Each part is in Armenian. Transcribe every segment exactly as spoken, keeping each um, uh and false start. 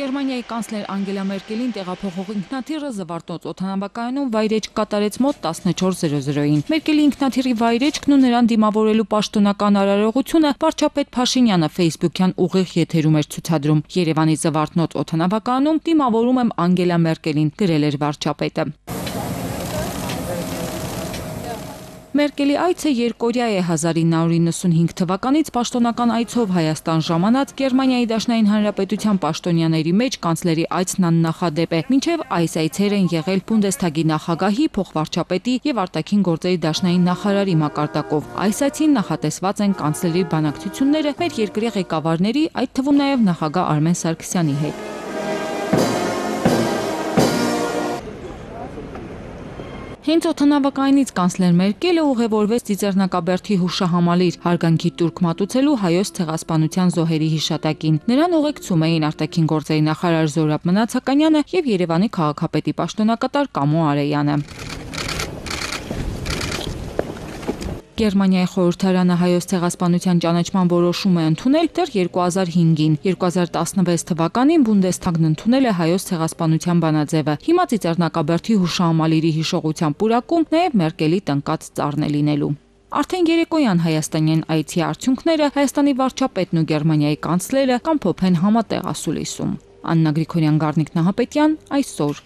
Գերմանիայի կանցլեր Անգելա Մերկելին տեղափոխող ինքնաթիռը Զվարթնոց օդանավակայանում վայրէջք կատարեց մոտ տասնչորս զրո զրոյին։ Մերկելի ինքնաթիռի վայրեջքն ու նրան դիմավորելու պաշտոնական արարողությունը վարչապետ Փաշինյանը Facebook-յան ուղիղ եթերում էր ցուցադրում։ Երևանի Զվարթնոց օդանավակայանում դիմավորում եմ Անգելա Մերկելին, գրել էր վարչապետը։ Մերկելի այցը երկօրյա է հազար ինը հարյուր իննսունհինգ թվականից պաշտոնական այցով Հայաստան ժամանած Գերմանիայի Դաշնային Հանրապետության պաշտոնյաների մեջ կանցլերի այցն աննախադեպ է։ Մինչև այս այցեր են եղել Բունդեսթագի նախագահի, փոխվարչապետի եւ արտաքին գործերի դաշնային նախարարի մակարդակով։ Այս այցին նախատեսված են կանցլերի բանակցությունները մեր երկրի ղեկավարների, այդ թվում նաեւ նախագահ Արմեն Սարգսյանի հետ։ Հենց օդանավակայանից կանցլեր Մերկելը ուղևորվեց Ծիծեռնակաբերդի հուշահամալիր հարգանքի տուրք մատուցելու Հայոց ցեղասպանության զոհերի հիշատակին։ Նրան ուղեկցում էին արտաքին գործերի նախարար Զորաբ Մնացականյանը եւ Երևանի քաղաքապետի պաշտոնակատար Կամո Արեյանը։ Գերմանիայի խորհրդարանը Հայոց ցեղասպանության ճանաչման որոշում է ընդունել դեռ երկու հազար հինգին։ երկու հազար տասնվեց թվականին Բունդեսթագն ընդունել է Հայոց ցեղասպանության բանաձևը։ Հիմա Ծիծեռնակաբերդի հուշահամալիրի հիշողության պուրակում նաև Մերկելի տնկած ծառն է լինելու։ Արդեն երեկոյան հայաստանյան այցի արդյունքները Հայաստանի վարչապետն ու Գերմանիայի կանցլերը կամփոփեն համատեղ ասուլիսում։ Աննա Գրիգորյան, Գառնիկ Նահապետյան, այսօր։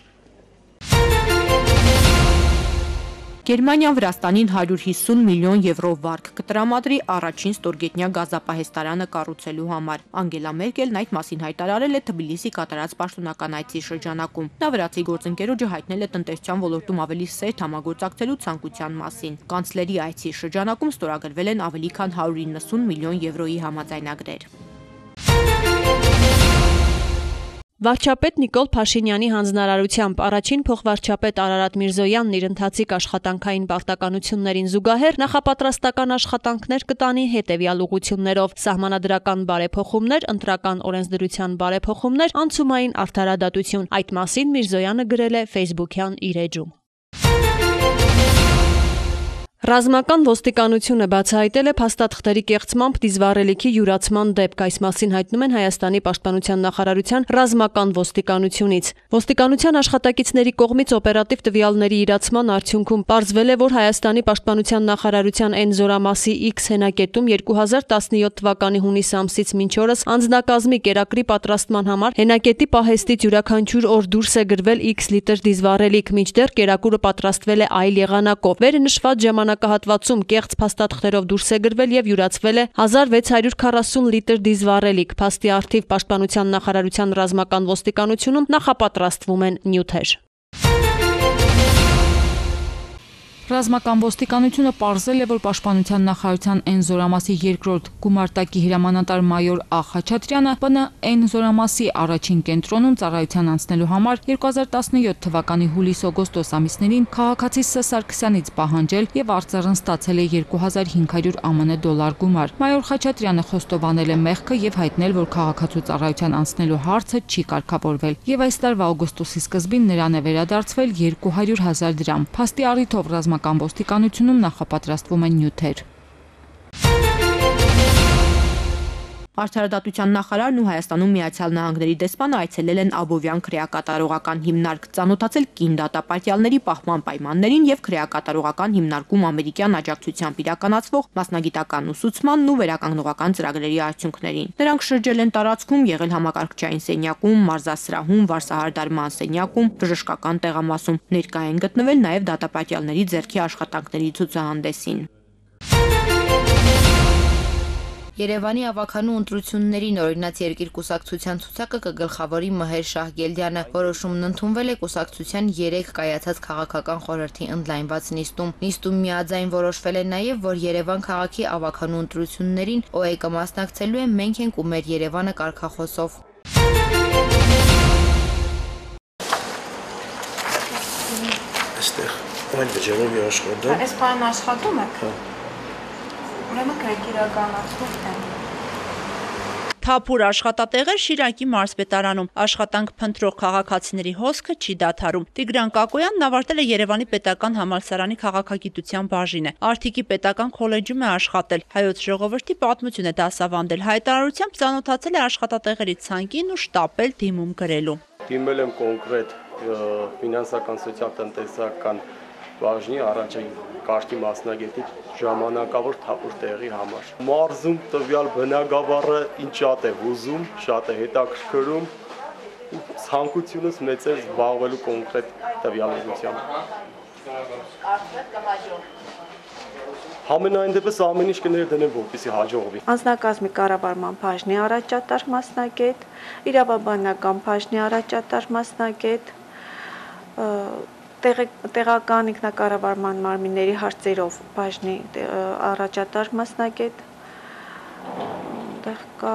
Գերմանիան Վրաստանին հարյուր հիսուն միլիոն եվրո վարկ կտրամադրի առաջին ստորգետնյա գազապահեստարանը կառուցելու համար։ Անգելա Մերկելն այդ մասին հայտարարել է Թբիլիսի կատարած պաշտոնական այցի շրջանակում։ Նա վրացի գործընկերոջը հայտնել է տնտեսության ոլորտում ավելի սերտ համագործակցելու ցանկության մասին։ Կանցլերի այցի շրջանակում ստորագրվել են ավելի քան հարյուր իննսուն միլիոն եվրոյի համաձայնագրեր։ Վարչապետ Նիկոլ Փաշինյանի հանձնարարությամբ առաջին փոխվարչապետ Արարատ Միրզոյանն իր ընթացիկ աշխատանքային պարտականություններին զուգահեռ նախապատրաստական աշխատանքներ կտանի հետևյալ ուղղություններով՝ սահմանադրական բարեփոխումներ, ընտրական օրենսդրության բարեփոխումներ, անցումային արդարադատություն։ Այդ մասին Միրզոյանը գրել է Facebook-յան իր էջում։ Ռազմական ոստիկանությունը բացահայտել է փաստաթղթերի կեղծմամբ դիզվառելիքի յուրացման դեպք։ Այս մասին հայտնում են Հայաստանի պաշտպանության նախարարության ռազմական ոստիկանությունից։ Ոստիկանության աշխատակիցների կողմից օպերատիվ տվյալների իրացման արդյունքում պարզվել է, որ Հայաստանի պաշտպանության նախարարության N զորամասի X հենակետում երկու հազար տասնյոթ թվականի հունիս ամսից մինչ օրս անձնակազմի կերակրի պատրաստման համար հենակետի պահեստից յուրաքանչյուր օր դուրս է գրվել X լիտր դիզվառելիք, մինչդեռ կերակուրը պատրաստվել է այլ եղանակով։ Վերը նշված ժամանակահատվածում կեղծ փաստաթղթերով դուրս է գրվել եւ յուրացվել է հազար վեց հարյուր քառասուն լիտր դիզվառելիք։ Փաստի առթիվ պաշտպանության նախարարության ռազմական ոստիկանությունում նախապատրաստվում են նյութեր։ Ռազմական ոստիկանությունը պարզել է, որ պաշտպանության նախարարության N զորամասի երկրորդ գումարտակի հրամանատար մայոր Ա Խաչատրյանը Բ N զորամասի առաջին կենտրոնում ծառայության անցնելու համար երկու հազար տասնյոթ թվականի հուլիս-օգոստոս ամիսներին քաղաքացի Ս Սարգսյանից պահանջել եւ արձարն ստացել է երկու հազար հինգ հարյուր ԱՄՆ դոլար գումար։ Մայոր Խաչատրյանը խոստովանել է մեղքը եւ հայտնել, որ քաղաքացու ծառայության անցնելու հարցը չի կարգավորվել եւ այս տարվա օգոստոսի սկզբին նրան է վերադարձվել երկու հարյուր հազար դրամ։ Փաստի առիթով ռազմական ոստիկանությունում նախապատրաստվում են նյութեր։ Արդարադատության նախարարն ու Հայաստանում Միացյալ Նահանգների դեսպանը այցելել են Աբովյան քրեակատարողական հիմնարկ, ծանոթացել կին դատապարտյալների պահպան պայմաններին եւ քրեակատարողական հիմնարկում ամերիկյան աջակցությամբ իրականացվող մասնագիտական ուսուցմանն ու վերականգնողական ծրագրերի արդյունքներին։ Նրանք շրջել են տարածքում, եղել համակարգչային սենյակում, մարզասրահում, վարսահարդարման սենյակում, բժշկական տեղամասում։ Ներկա են գտնվել նաեւ դատապարտյալների ձեռքի աշխատանքների ցուցահանդեսին։ Երևանի ավականու ընտրություններին օրինաց երկիր կուսակցության ցուցակը կգլխավորի Մհեր Շահգելդյանը։ Որոշումն ընդունվել է կուսակցության երեք կայացած քաղաքական խորհրդի ընդլայնված նիստում։ Նիստում միաձայն որոշվել է նաև, որ Երևան քաղաքի ավականու ընտրություններին Օ Է կմասնակցելու է «Մենք ենք ու մեր Երևանը» կարգախոսով։ Այստեղ այն վճարով է աշխատում։ Այս բանը աշխատում եք։ Ուրեմն կրեք իրականացնում են։ Թափուր աշխատատեղեր Շիրակի մարզպետարանում, աշխատանք փնտրող քաղաքացիների հոսքը չի դադարում։ Տիգրան Կակոյանն ավարտել է Երևանի պետական համալսարանի քաղաքագիտության բաժինը, Արթիկի պետական քոլեջում է աշխատել, Հայոց ժողովրդի պատմություն է դասավանդել, հայտարարությամբ ծանոթացել է աշխատատեղերի ցանկին ու շտապել դիմում գրելու։ Դիմել եմ կոնկրետ ֆինանսական սոցիալ-տնտեսական բաժնի առաջին կարգի մասնագետի ժամանակավոր թափուր տեղի համար։ Մարզում տվյալ բնակավարը ինչ շատ է ուզում, շատ է հետաքրքրում, ցանկությունս մեծ է զբաղվելու կոնկրետ տվյալությամբ։ Համենայն դեպս ամեն ինչ կներդնեմ, որպեսզի հաջողվի։ Անձնակազմի կառավարման բաժնի առաջատար մասնագետ, իրավաբանական բաժնի առաջատար մասնագետ, տեղական ինքնակառավարման մարմինների հարցերով բաժնի առաջատար մասնագետ, կա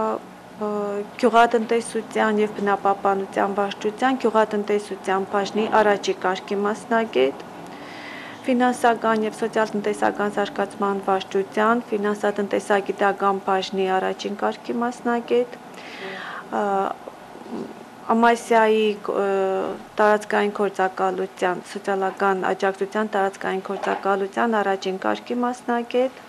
գյուղատնտեսության եւ բնապահպանության վարչության գյուղատնտեսության բաժնի առաջի կարգի մասնագետ, ֆինանսական եւ սոցիալ-տնտեսական զարգացման վարչության ֆինանսատնտեսագիտական բաժնի առաջին կարգի մասնագետ, Ամասիայի տարածքային գործակալության, սոցիալական աջակցության տարածքային գործակալության առաջին կարգի մասնագետ,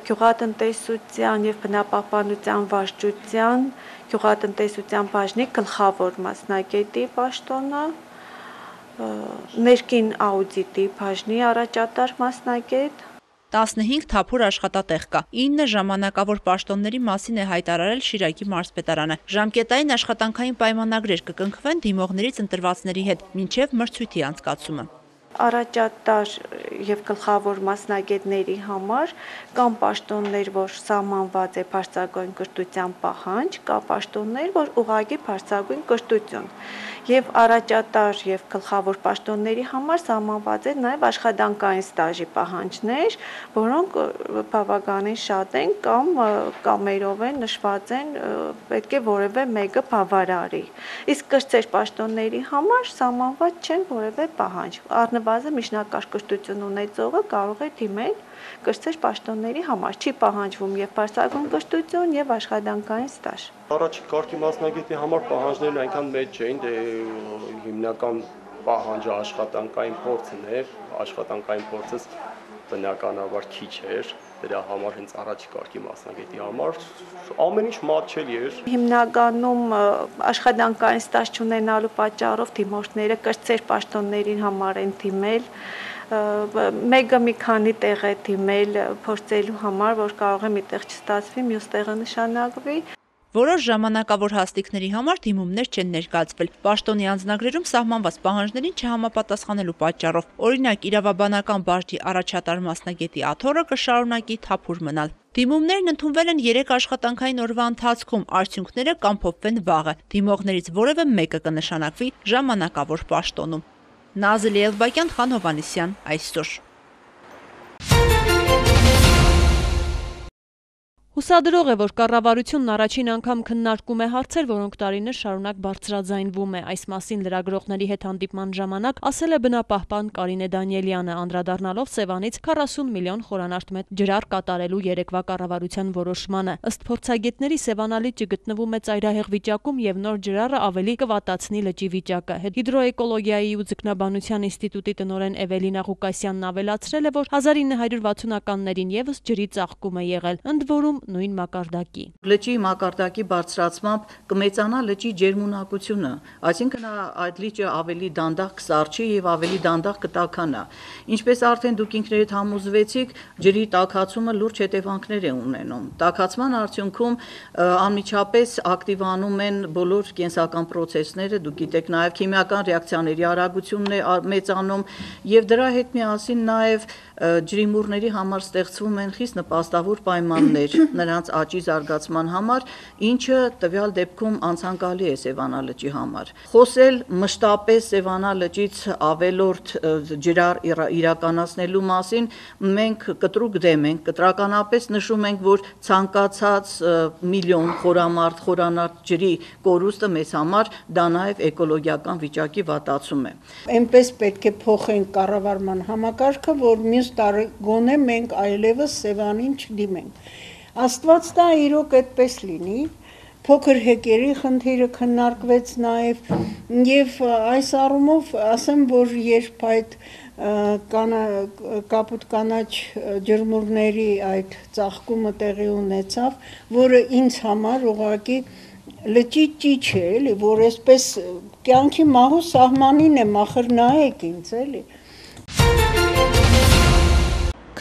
գյուղատնտեսության եւ բնապահպանության վարչության գյուղատնտեսության բաժնի գլխավոր մասնագետի պաշտոնը, ներքին աուդիտի բաժնի առաջատար մասնագետ, տասնհինգ թափուր աշխատատեղ կա, ինը ժամանակավոր պաշտոնների մասին է հայտարարել Շիրակի մարզպետարանը։ Ժամկետային աշխատանքային պայմանագրեր կկնքվեն դիմողներից ընտրվածների հետ, մինչև մրցույթի անցկացումը։ Առաջատար եւ գլխավոր մասնագետների համար կան պաշտոններ, որ սահմանված է բարձրագույն կրթության պահանջ, կա պաշտոններ, որ ուղղակի բարձրագույն կրթություն։ Եվ առաջատար եւ գլխավոր պաշտոնների համար սահմանված է նաեւ աշխատանքային ստաժի պահանջներ, որոնք բավականին շատ են կամ կամերով են նշված են, պետք է որևէ մեկը բավարարի։ Իսկ կրտսեր պաշտոնների համար սահմանված չեն որևէ պահանջ։ Առնվազն միջնակարգ կրթություն ունեցողը կարող է դիմել կրտսեր պաշտոնների համար, չի պահանջվում եւ բարձրագույն կրթություն եւ աշխատանքային ստաժ։ Առաջին կարգի մասնագետի համար պահանջներն այնքան մեծ չէին, դե հիմնական պահանջը աշխատանքային փորձն է, աշխատանքային փորձս բնականաբար քիչ էր, դրա համար հենց առաջի կարգի մասնագետի համար ամեն ինչ մատչելի էր։ Հիմնականում աշխատանքային ստաժ չունենալու պատճառով դիմորդները կրտսեր պաշտոններին համար են դիմել, մեկը մի քանի տեղ է դիմել փորձելու համար, որ կարող է մի տեղ չստացվի, մյուս տեղը նշանակվի։ Որոշ ժամանակավոր հաստիկների համար դիմումներ չեն ներկայացվել։ Պաշտոնի անձնագրերում սահմանված պահանջներին չհամապատասխանելու պատճառով, օրինակ իրավաբանական բաժնի առաջատար մասնագետի աթոռը կշարունակի թափուր մնալ։ Դիմումներն ընդունվել են երեք աշխատանքային օրվա ընթացքում, արդյունքները կամփոփվեն վաղը։ Դիմողներից որևէ մեկը կնշանակվի ժամանակավոր պաշտոնում։ Նազելի Էլբակյան, Խան Հովհաննիսյան, այսօր։ Հուսադրող է, որ կառավարությունն առաջին անգամ քննարկում է հարցեր, որոնք տարիներ շարունակ բարձրաձայնվում է։ Այս մասին լրագրողների հետ հանդիպման ժամանակ ասել է բնապահպան Կարինե Դանիելյանը, անդրադառնալով Սևանից քառասուն միլիոն խորանարդ ջրար կատարելու երեկվա կառավարության որոշմանը։ Ըստ փորձագետների Սևան լիճը գտնվում է ծայրահեղ վիճակում եւ նոր ջրառը ավելի կվատացնի լճի վիճակը։ Հիդրոէկոլոգիայի ու ձկնաբանության ինստիտուտի տնօրեն Էվելինա Ղուկասյանն ավելացրել է, որ հազար ինը հարյուր վաթսունականներին եւս ջրի ծաղկում է եղել, ընդ որում նույն մակարդակի։ Լճի մակարդակի բարձրացմամբ կմեծանա լճի ջերմունակությունը, այսինքն այդ լիճը ավելի դանդաղ կսառչի եւ ավելի դանդաղ կտաքանա։ Ինչպես արդեն դուք ինքներդ համոզվեցիք, ջրի տաքացումը լուրջ հետևանքներ է ունենում։ Տաքացման արդյունքում անմիջապես ակտիվանում են բոլոր կենսական պրոցեսները, դուք գիտեք, նաեւ քիմիական ռեակցիաների արագությունն է մեծանում եւ դրա հետ միասին նաեւ ջրիմուռների համար ստեղծվում են խիստ նպաստավոր պայմաններ նրանց աճի զարգացման համար, ինչը տվյալ դեպքում անցանկալի է Սևանա լճի համար։ Խոսել մշտապես Սևանա լճից ավելորդ ջրար իրականացնելու մասին մենք կտրուկ դեմ ենք, կտրականապես նշում ենք, որ ցանկացած միլիոն խորամարդ, խորանարդ ջրի կորուստը մեզ համար դա նաև էկոլոգիական վիճակի վատացում է։ Այնպես պետք է փոխենք կառավարման համակարգը, որ մյուս տարի գոնե մենք այլևս Սևանին չդիմենք։ Աստված տա իրոք այդպես լինի։ Փոքր հեկերի խնդիրը քննարկվեց նաև եւ այս առումով ասեմ, որ երբ այդ կանա կապուտ կանաչ ջրմուրների այդ ծաղկումը տեղի ունեցավ, որը ինձ համար ուղղակի լճի ճիչ է, էլի, որ այսպես կյանքի մահու սահմանին է, ախր նայեք ինձ, էլի։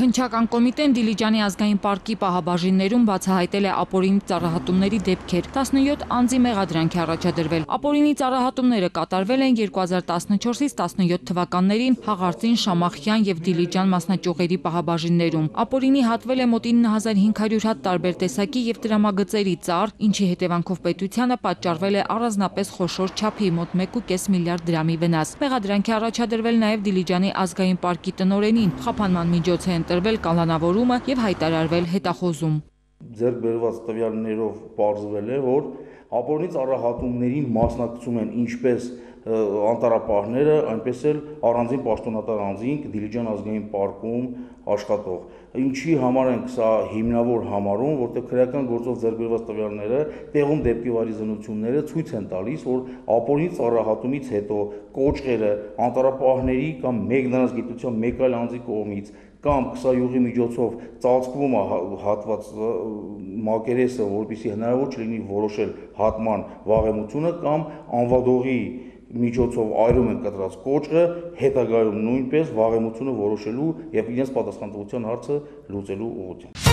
Քննչական կոմիտեն Դիլիջանի ազգային պարկի պահաբաժիններում բացահայտել է ապօրինի ծառահատումների դեպքեր, տասնյոթ անձի մեղադրանք է առաջադրվել։ Ապօրինի ծառահատումները կատարվել են երկու հազար տասնչորսից տասնյոթ թվականներին Հաղարծին, Շամախյան եւ Դիլիջան մասնաճյուղերի պահաբաժիններում։ Ապօրինի հատվել է մոտ ինը հազար հինգ հարյուր հատ տարբեր տեսակի եւ տրամագծերի ծառ, ինչի հետևանքով պետությանը պատճառվել է առանձնապես խոշոր չափի մոտ մեկ ու կես միլիարդ դրամի վնաս։ Մեղադրանք է առաջադրվել նաեւ Դիլիջանի ազգային պարկի տնօրենին։ Խափանման միջոց է տրվել կանոնավորումը եւ հայտարարվել հետախոզում։ Ձեռք բերված տվյալներով պարզվել է, որ ապօրինի ծառահատումներին մասնակցում են ինչպես անտառապահները, այնպես էլ առանձին պաշտոնատար անձինք Դիլիջան ազգային պարկում աշխատող։ Ինչի համար ենք սա հիմնավոր համարում, որտեղ քրեական գործով ձեռք բերված տվյալները տեղում դեպքի վարի զննությունները ցույց են տալիս, որ ապօրինի ծառահատումից հետո կոճղերը անտառապահների կամ մեկ նրանց գիտության մեկ այլ անձի կողմից կամ քսայուղի միջոցով ծածկվում է հատված մակերեսը, որպեսզի հնարավոր չլինի որոշել հատման վաղեմությունը կամ անվադողի միջոցով այրում են կտրած կոճղը, հետագայում նույնպես վաղեմությունը որոշելու եւ իրենց պատասխանատվության հարցը լուծելու ուղղությամբ։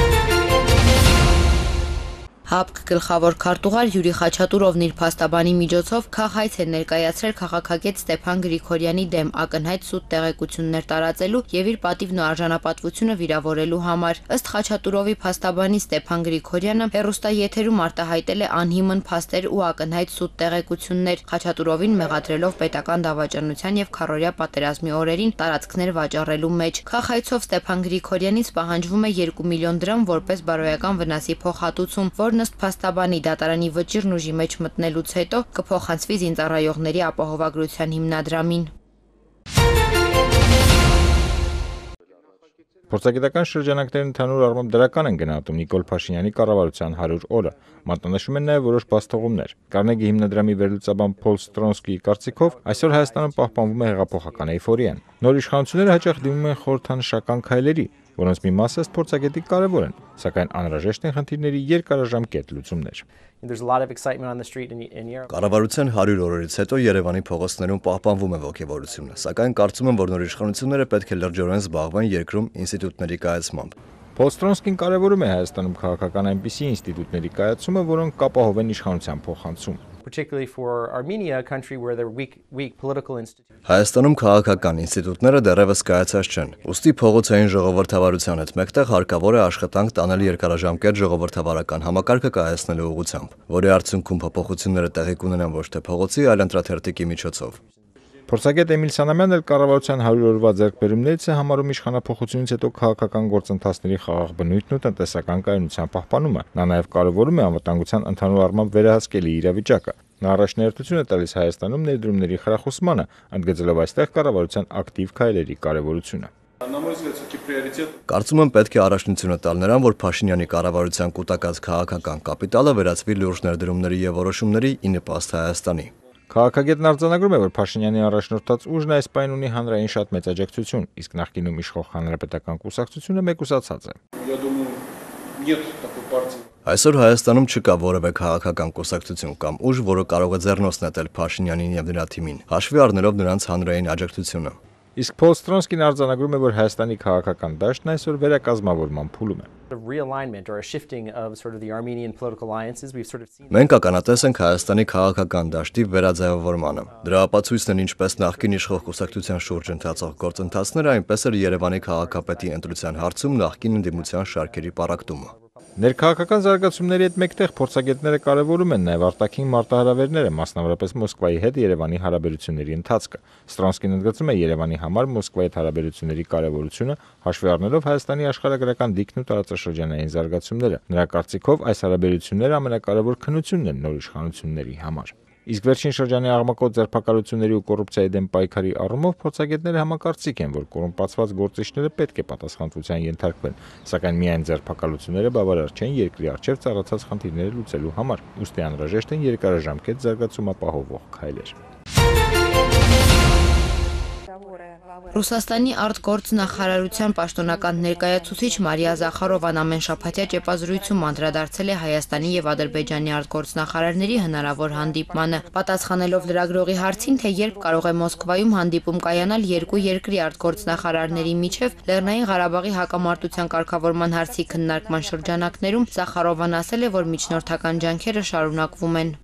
ՀԱՊԿ գլխավոր քարտուղար Յուրի Խաչատուրովն իր փաստաբանի միջոցով քաղաքայց է ներկայացրել քաղաքագետ Ստեփան Գրիգորյանի դեմ ակնհայտ սուտ տեղեկություններ տարածելու եւ իր պատիվն ու արժանապատվությունը վիրավորելու համար։ Ըստ Խաչատուրովի փաստաբանի Ստեփան Գրիգորյանը հեռուստաեթերում արտահայտել է անհիմն փաստեր ու ակնհայտ սուտ տեղեկություններ, Խաչատուրովին մեղադրելով պետական դավաճանության եւ քառօրյա պատերազմի օրերին տարածքներ վաճառելու մեջ։ Քաղաքայցով Ստեփան Գրիգորյանից պահանջվում է երկու միլիոն դրամ որպես բարոյական վնասի փոխհատուցում, որ ըստ փաստաբանի դատարանի վճիռն ուժի մեջ մտնելուց հետո կփոխանցվի զինծառայողների ապահովագրության հիմնադրամին։ Փորձագիտական շրջանակներն ընդհանուր առմամբ դրական են գնահատում Նիկոլ Փաշինյանի կառավարության հարյուր օրը։ Մատնանշում են նաև որոշ բացթողումներ։ Կարնեգի հիմնադրամի վերլուծաբան Փոլ Ստրոնսկիի կարծիքով այսօր Հայաստանում պահպանվում է հեղափոխական էյֆորիան։ Նոր իշխանությունները հաճախ դիմում են խորհրդանշական քայլերի, որոնց մի մասը ըստ փորձագետի կարևոր են, սակայն անհրաժեշտ են խնդիրների երկարաժամկետ լուծումներ։ Կառավարության հարյուր օրերից հետո Երևանի փողոցներում պահպանվում է ոգևորությունը, սակայն կարծում եմ, որ նոր իշխանությունները պետք է լրջորեն զբաղվեն երկրում ինստիտուտների կայացմամբ։ Փոլ Ստրոնսկին կարևորում է Հայաստանում քաղաքական այնպիսի ինստիտուտների կայացումը, որոնք կապահովեն իշխանության փոխանցում։ Հայաստանում քաղաքական ինստիտուտները դեռևս կայացած չեն։ Ուստի փողոցային ժողովրդավարության հետ մեկտեղ հարկավոր է աշխատանք տանել երկարաժամկետ ժողովրդավարական համակարգը կայացնելու ուղղությամբ, որի արդյունքում փոփոխությունները տեղի կունենան ոչ թե փողոցի, այլ ընտրաթերթիկի միջոցով։ Փորձագետ Էմիլ Սանամյանն էլ կառավարության հարյուր օրվա ձեռքբերումներից է համարում իշխանափոխությունից հետո քաղաքական գործընթացների խաղաղ բնույթն ու տնտեսական կայունության պահպանումը։ Նա նաև կարևորում է անվտանգության ընդհանուր առմամբ վերահսկելի իրավիճակը։ Նա առաջնահերթություն է տալիս Հայաստանում ներդրումների խրախուսմանը, ընդգծելով այստեղ կառավարության ակտիվ քայլերի կարևորությունը։ Կարծում եմ պետք է առաջնությունը տալ նրան, որ Փաշինյանի կառավարության կուտակած քաղաքական կապիտալը վերածվի լուրջ ներդրումների եւ որոշումների ի նպաստ Հայաստանի։ Քաղաքագետն արձանագրում է, որ Փաշինյանի առաջնորդած ուժն այս պայն ունի հանրային շատ մեծ աջակցություն, իսկ նախկինում իշխող հանրապետական կուսակցությունը մեկուսացած է։ Այսօր Հայաստանում չկա որևէ քաղաքական կուսակցություն կամ ուժ, որը կարող է ձեռնոց նետել Փաշինյանին եւ նրա թիմին, հաշվի առնելով նրանց հանրային աջակցությունը։ Իսկ Փոլ Ստրոնսկին արձանագրում է, որ Հայաստանի քաղաքական դաշտն այսօր վերակազմավորման փուլում է։ Մենք ականատես ենք Հայաստանի քաղաքական դաշտի վերաձևավորմանը։ Դրա ապացույցն են ինչպես նախկին իշխող կուսակցության շուրջ ընթացող գործընթացները, այնպես էլ Երևանի քաղաքապետի ընտրության հարցում նախկին ընդդիմության շարքերի պառակտումը։ Ներքաղաքական զարգացումների հետ մեկտեղ փորձագետները կարևորում են նաև արտաքին մարտահրավերները, մասնավորապես Մոսկվայի հետ Երևանի հարաբերությունների ընթացքը։ Ստրոնսկին ընդգծում է Երևանի համար Մոսկվայի հետ հարաբերությունների կարևորությունը, հաշվի առնելով Հայաստանի աշխարհագրական դիրքն ու տարածաշրջանային զարգացումները։ Նրա կարծիքով այս հարաբերությունները ամենակարևոր քննությունն են նոր իշխանությունների համար։ Իսկ վերջին շրջանի աղմկոտ ձերբակալությունների ու կոռուպցիայի դեմ պայքարի առումով փորձագետները համակարծիք են, որ կոռումպացված գործիչները պետք է պատասխանատվության ենթարկվեն, սակայն միայն ձերբակալությունները բավարար չեն երկրի առջև ծառացած խնդիրները լուծելու համար, ուստի անհրաժեշտ են երկարաժամկետ զարգացում ապահովող քայլեր։ Ռուսաստանի արտգործնախարարության պաշտոնական ներկայացուցիչ Մարիա Զախարովան ամենշաբաթյա ճեպազրույցում անդրադարձել է Հայաստանի եւ Ադրբեջանի արտգործնախարարների հնարավոր հանդիպմանը, պատասխանելով լրագրողի հարցին, թե երբ կարող է Մոսկվայում հանդիպում կայանալ երկու երկրի արտգործնախարարների միջև Լեռնային Ղարաբաղի հակամարտության կարգավորման հարցի քննարկման շրջանակներում, Զախարովան ասել է, որ միջնորդական ջանքերը շարունակվում են։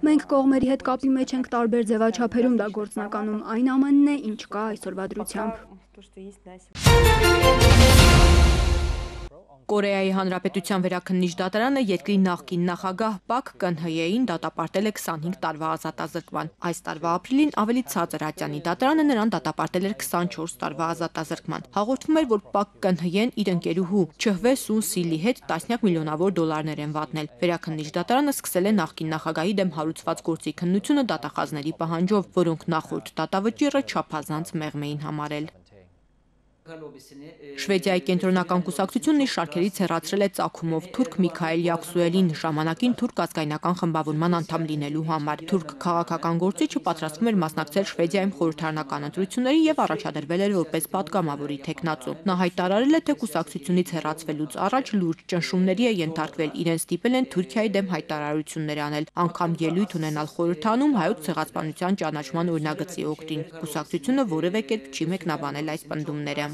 Մենք կողմերի հետ կապի մեջ ենք տարբեր ձևաչափերում, դա գործնականում այն ամենն է, ինչ կա այսօրվա դրությամբ։ Կորեայի Հանրապետության վերաքննիչ դատարանը երկրի նախկին նախագահ Պակ Կըն-հեյին դատապարտել է քսանհինգ տարվա ազատազրկման։ Այս տարվա ապրիլին ավելի ցածր ատյանի դատարանը նրան դատապարտել էր քսանչորս տարվա ազատազրկման։ Հաղորդվում էր, որ Պակ Կըն-հեյեն իր ընկերուհու Չհվե Սուն Սիլի հետ տասնյակ միլիոնավոր դոլարներ են վատնել։ Վերաքննիչ դատարանը սկսել է նախկին նախագահի դեմ հարուցված գործի քննությունը դատախազների պահանջով, որոնք նախորդ դատավճիռը չափազանց մեղմ էին համարել։ Շվեդիայի կենտրոնական կուսակցությունն իր շարքերից հեռացրել է ծագումով թուրք Միքայել Յաքսուելին ժամանակին թուրք ազգայնական խմբավորման անդամ լինելու համար։ Թուրք քաղաքական գործիչը պատրաստվում էր մասնակցել Շվեդիայում խորհրդարանական ընտրությունների եւ առաջադրվել էր որպես պատգամավորի թեկնածու։ Նա հայտարարել է, թե կուսակցությունից հեռացվելուց առաջ լուրջ ճնշումների է ենթարկվել, իրեն ստիպել են Թուրքիայի դեմ հայտարարություններ անել, անգամ ելույթ ունենալ խորհրդարանում հայոց ցեղասպանության ճանաչման օրինագծի օգտին։ Կուսակցությունը որևէ կերպ չի մեկնաբանել այս պնդումները։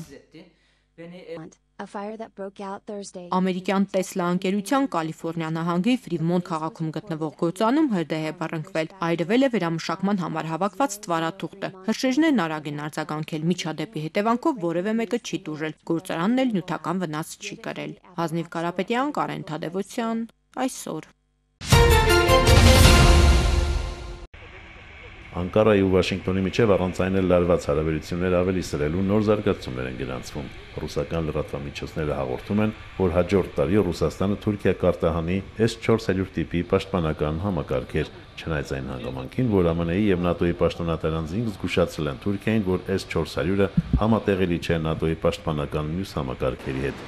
Ամերիկյան Տեսլա ընկերության Կալիֆոռնիա նահանգի Ֆրիմոնտ քաղաքում գտնվող գործանում հրդեհ է բռնկվել։ Այրվել է վերամշակման համար հավաքված ստվարաթուղթը։ Հրշեջներն արագ են արձագանքել, միջադեպի հետևանքով որևէ մեկը չի տուժել։ Գործարանն էլ նյութական վնաս չի կրել։ Հազնիվ Կարապետյան, Կարեն Թադևոսյան, այսօր։ Անկարայի ու Վաշինգտոնի միջև առանց այն էլ լարված հարաբերություններ ավելի սրելու նոր զարգացումներ են գրանցվում։ Ռուսական լրատվամիջոցները հաղորդում են, որ հաջորդ տարի Ռուսաստանը Թուրքիա կարտահանի էս չորս հարյուր տիպի պաշտպանական համակարգեր, չնայած այն հանգամանքին, որ ԱՄՆ-ի եւ ՆԱՏՕ-ի պաշտոնատար անձինք զգուշացրել են Թուրքիային, որ էս չորս հարյուրը համատեղելի չէ ՆԱՏՕ-ի պաշտպանական մյուս համակարգերի հետ։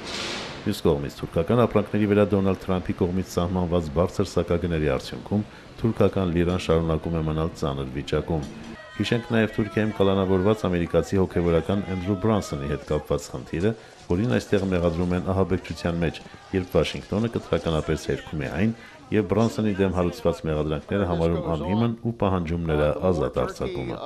Մյուս կողմից թուրքական ապրանքների վրա Դոնալդ Թրամփի կողմից սահմանված բարձր սակագների արդյունքում թուրքական լիրան շարունակում է մնալ ծանր վիճակում։ Հիշենք նաև Թուրքիայում կալանավորված ամերիկացի հոգևորական Էնդրու Բրանսոնի հետ կապված խնդիրը, որին այստեղ մեղադրում են ահաբեկչության մեջ, երբ Վաշինգտոնը կտրականապես հերքում է այն եւ Բրանսոնի դեմ հարուցված մեղադրանքները համարում անհիմն ու պահանջում նրա ազատ արձակումը։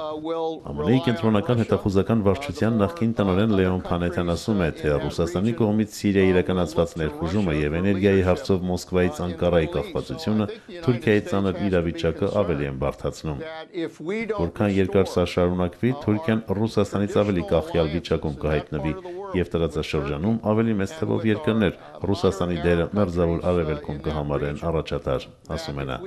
ԱՄՆ-ի կենտրոնական հետախուզական վարչության նախկին տնօրեն Լեոն Փանետյան ասում է, թե Ռուսաստանի կողմից Սիրիայի իրականացված ներխուժումը եւ էներգիայի հարցով Մոսկվայից Անկարայի կախվածությունը Թուրքիայի ծանր իրավիճակը ավելի են բարդացնում։ Որքան երկար սա շարունակվի, Թուրքիան Ռուսաստանից ավելի կախյալ վիճակում կհայտնվի եւ տարածաշրջանում ավելի մեծ թվով երկրներ Ռուսաստանի դերը մերձավոր արևելքում կհամարեն առաջատար, ասում է նա։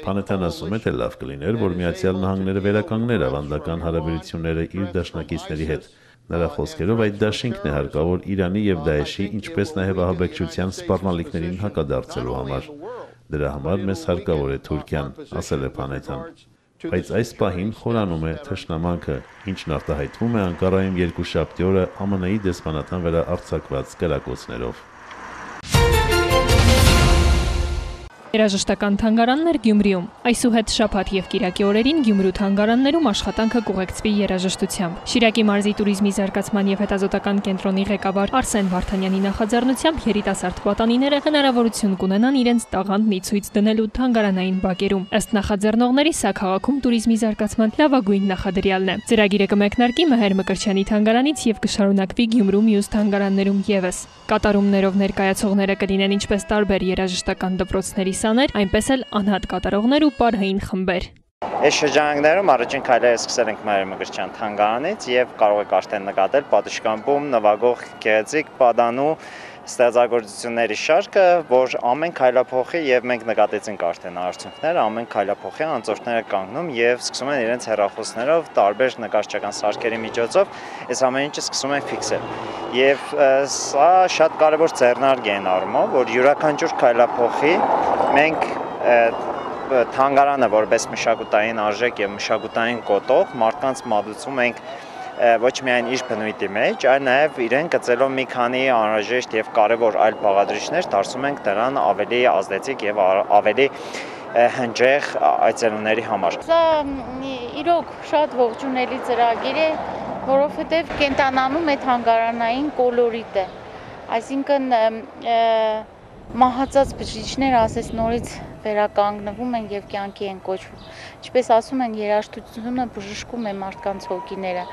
Փանետյան ասում է, թե լավ կլիներ, որ Միացյալ Նահանգները վերականգներ ավանդական հարաբերությունները իր դաշնակիցների հետ։ Նրա խոսքերով այդ դաշինքն է հարկավոր Իրանի եւ Դաեշի, ինչպես նաեւ ահաբեկչության սպառնալիքներին հակադարձելու համար։ Դրա համար մեզ հարկավոր է Թուրքիան, ասել է Փանետյան։ Բայց այս պահին խորանում է թշնամանքը, ինչն արտահայտվում է Անկարայում երկուշաբթի օրը ԱՄՆ-ի դեսպանատան վրա արձակված կրակոցներով։ Երաժշտական թանգարաններ Գյումրիում։ Այսուհետ շաբաթ եւ կիրակի օրերին Գյումրու թանգարաններում աշխատանքը կուղեկցվի երաժշտությամբ։ Շիրակի մարզի туриզմի զարգացման եւ հետազոտական կենտրոնի ղեկավար Արսեն Վարդանյանի նախաձեռնությամբ երիտասարդ պատանիները հնարավորություն կունենան իրենց տաղանդն ի ցույց դնելու թանգարանային բակերում։ Ըստ նախաձեռնողների, սա քաղաքում туриզմի զարգացման լավագույն նախադրյալն է։ Ծրագիրը կմեկնարկի Մհեր Մկրտչյանի թանգարանից եւ կշարունակվի Գյումրու մյուս թանգարաններում եւս։ Կատարումներով ներկայացողները կլինեն ինչպես տարբեր երաժշտական դպրոցների սաներ, այնպես էլ անհատ կատարողներ ու պարային խմբեր։ Այս շրջանակներում առաջին քայլերը սկսել ենք Մհեր Մկրտչյան թանգարանից եւ կարող եք արդեն նկատել պատշգամբում նվագող գեղեցիկ պատանու ստեղծագործությունների շարքը, որ ամեն քայլափոխի եւ մենք նկատեցինք արդեն արդյունքները, ամեն քայլափոխի անցորդները կանգնում եւ սկսում են իրենց հեռախոսներով տարբեր նկարչական սարքերի միջոցով այս ամեն ինչը սկսում են ֆիքսել։ Եվ սա շատ կարևոր ձեռնարկ է այն առումով, որ յուրաքանչյուր քայլափոխի մենք թանգարանը որպես մշակութային արժեք եւ մշակութային կոտող մարդկանց մատուցում ենք ոչ միայն իր բնույթի մեջ, այլ նաև իրեն գծելով մի քանի անհրաժեշտ եւ կարեւոր այլ բաղադրիչներ, դարձում ենք դրան ավելի ազդեցիկ եւ ավելի հնչեղ այցելուների համար։ Սա իրոք շատ ողջունելի ծրագիր է, որովհետեւ կենտանանում է թանգարանային կոլորիտը, այսինքն մահացած բջիջները ասես նորից վերականգնվում են եւ կյանքի են կոչվում։ Ինչպես ասում են, երաժշտությունը բժշկում է մարդկանց հոգիները։